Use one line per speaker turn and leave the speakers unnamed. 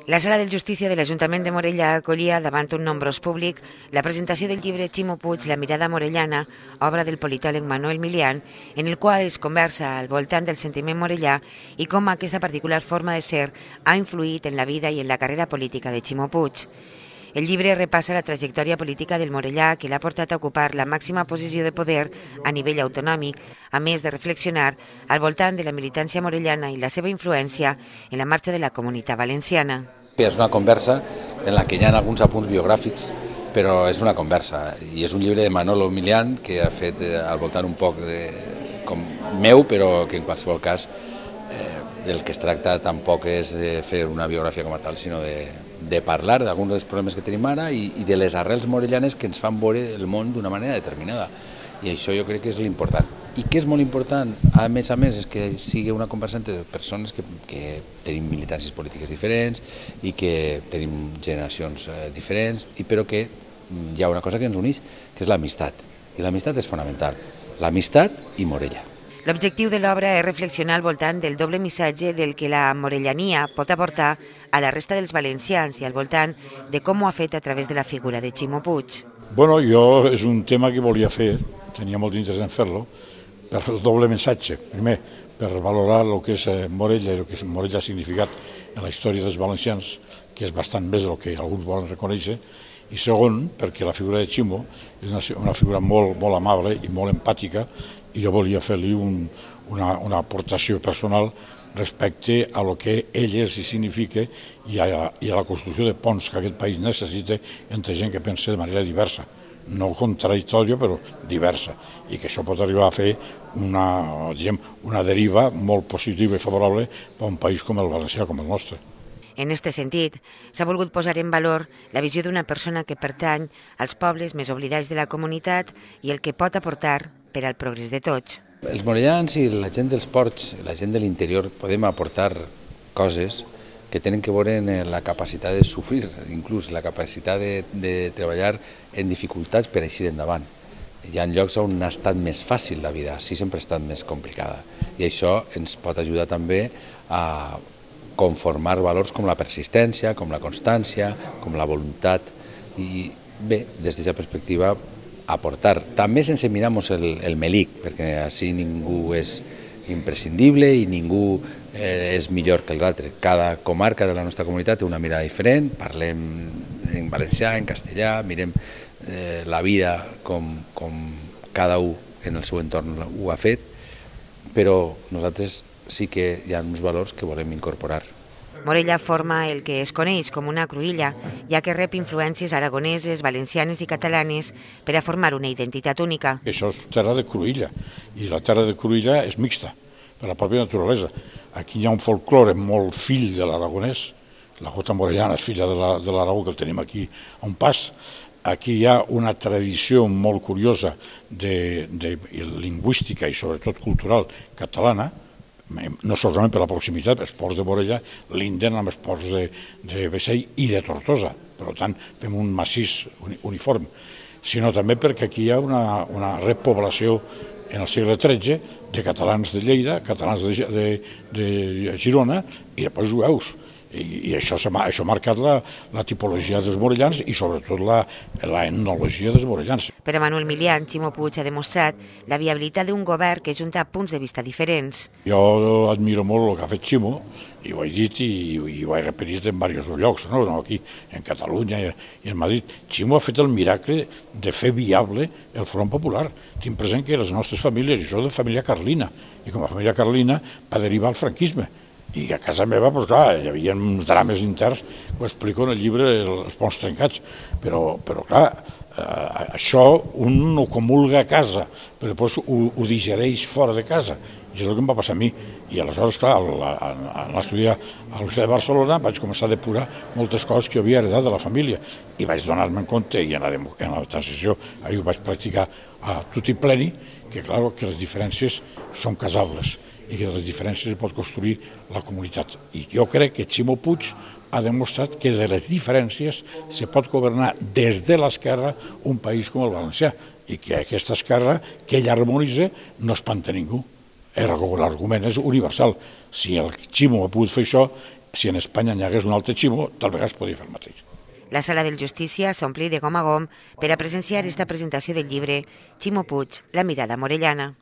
La Sala de Justícia de l'Ajuntament de Morella acollia davant un nombrós públic la presentació del llibre Ximo Puig, La mirada morellana, obra del politòleg Manuel Milian, en el qual es conversa al voltant del sentiment morellà i com aquesta particular forma de ser ha influït en la vida i en la carrera política de Ximo Puig. El llibre repassa la trajectòria política del morellà que l'ha portat a ocupar la màxima posició de poder a nivell autonòmic, a més de reflexionar al voltant de la militància morellana i la seva influència en la marxa de la Comunitat Valenciana.
És una conversa en la que hi ha alguns apunts biogràfics, però és una conversa i és un llibre de Manolo Milian que ha fet al voltant un poc com meu, però que en qualsevol cas del que es tracta tampoc és de fer una biografia com a tal, sinó de parlar d'alguns dels problemes que tenim ara i de les arrels morellanes que ens fan veure el món d'una manera determinada. I això jo crec que és l'important. I que és molt important, a més, és que sigui una conversa entre persones que tenim militàncies polítiques diferents i que tenim generacions diferents, però que hi ha una cosa que ens uneix, que és l'amistat. I l'amistat és fonamental. L'amistat i Morella.
L'objectiu de l'obra és reflexionar al voltant del doble missatge del que la morellania pot aportar a la resta dels valencians i al voltant de com ho ha fet a través de la figura de Ximo Puig.
Bueno, jo és un tema que volia fer, tenia molt d'interès en fer-lo, per el doble missatge. Primer, per valorar el que és Morella i el que Morella ha significat en la història dels valencians, que és bastant més del que alguns volen reconèixer, i segon, perquè la figura de Ximo és una figura molt amable i molt empàtica, i jo volia fer-li una aportació personal respecte a lo que ell és i significa i a la construcció de ponts que aquest país necessita entre gent que pensa de manera diversa, no contradictòria però diversa, i que això pot arribar a fer una deriva molt positiva i favorable per a un país com el valencià, com el nostre.
En aquest sentit, s'ha volgut posar en valor la visió d'una persona que pertany als pobles més oblidats de la comunitat i el que pot aportar per al progrés de tots.
Els morellans i la gent dels ports, la gent de l'interior, podem aportar coses que tenen que veure en la capacitat de sofrir, inclús la capacitat de treballar en dificultats per eixir endavant. Hi ha llocs on ha estat més fàcil la vida, sí sempre ha estat més complicada. I això ens pot ajudar també a conformar valors com la persistència, com la constància, com la voluntat. I bé, des d'aquesta perspectiva, aportar, també sense mirar-nos el melic, perquè així ningú és imprescindible i ningú és millor que l'altre. Cada comarca de la nostra comunitat té una mirada diferent, parlem en valencià, en castellà, mirem la vida com cada un en el seu entorn ho ha fet, però nosaltres sí que hi ha uns valors que volem incorporar.
Morella forma el que es coneix com una cruïlla, ja que rep influències aragoneses, valencianes i catalanes per a formar una identitat única.
Això és terra de cruïlla, i la terra de cruïlla és mixta, per la pròpia naturalesa. Aquí hi ha un folklore molt fill de l'aragonès, la jota morellana és filla de l'Aragó, que el tenim aquí a un pas. Aquí hi ha una tradició molt curiosa lingüística i sobretot cultural catalana, no solament per la proximitat, els ports de Morella linden amb els ports de Bessell i de Tortosa, per tant fem un massís uniforme, sinó també perquè aquí hi ha una repoblació en el segle XIII de catalans de Lleida, catalans de Girona i després jueus. I això ha marcat la tipologia dels morellans i sobretot l'etnologia dels morellans.
Per a Manuel Milian, Ximo Puig ha demostrat la viabilitat d'un govern que junta punts de vista diferents.
Jo admiro molt el que ha fet Ximo, i ho he dit i ho he repetit en diversos llocs, no aquí, en Catalunya i en Madrid. Ximo ha fet el miracle de fer viable el Front Popular. Tinc present que les nostres famílies, jo soc de família carlina, i com a família carlina va derivar al franquisme. I a casa meva, doncs clar, hi havia uns drames interns, ho explico en el llibre Els ponts trencats, però clar, això un ho comulga a casa, però després ho digereix fora de casa, i és el que em va passar a mi. I aleshores, clar, al estudiar a l'Universitat de Barcelona vaig començar a depurar moltes coses que jo havia heredat de la família, i vaig donar-me en compte, i en la transició ho vaig practicar a tutti pleni, que clar, que les diferències són casables, i que de les diferències es pot construir la comunitat. I jo crec que Ximo Puig ha demostrat que de les diferències se pot governar des de l'esquerra un país com el valencià, i que aquesta esquerra que ell harmonitza no espanta ningú. L'argument és universal. Si el Ximo ha pogut fer això, si en Espanya n'hi hagués un altre Ximo, tal vegada es podria fer el mateix.
La sala del Justícia s'ompli de gom a gom per a presenciar esta presentació del llibre Ximo Puig, la mirada morellana.